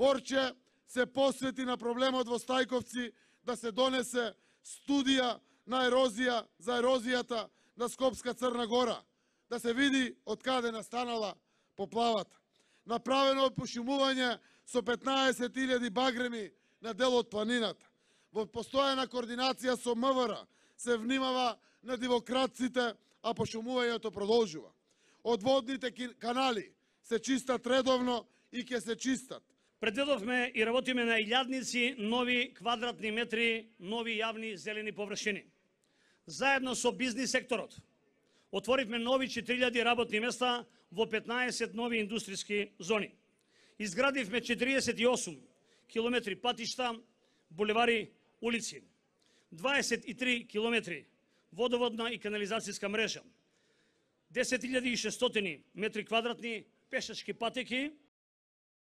Борче се посвети на проблемот во Стајковци да се донесе студија на ерозија за ерозијата на Скопска Црна Гора, да се види од каде настанала поплавата. Направено е пошумување со 15.000 багреми на дел од планината. Во постојана координација со МВР се внимава на дивократците, а пошумувањето продолжува. Одводните канали се чистат редовно и ќе се чистат. Предвидовме и работиме на илјадници нови квадратни метри, нови јавни зелени површини. Заедно со бизнис секторот отворивме нови 4000 работни места во 15 нови индустријски зони. Изградивме 48 километри патишта, булевари, улици, 23 километри водоводна и канализацијска мрежа, 10.600 метри квадратни пешачки патеки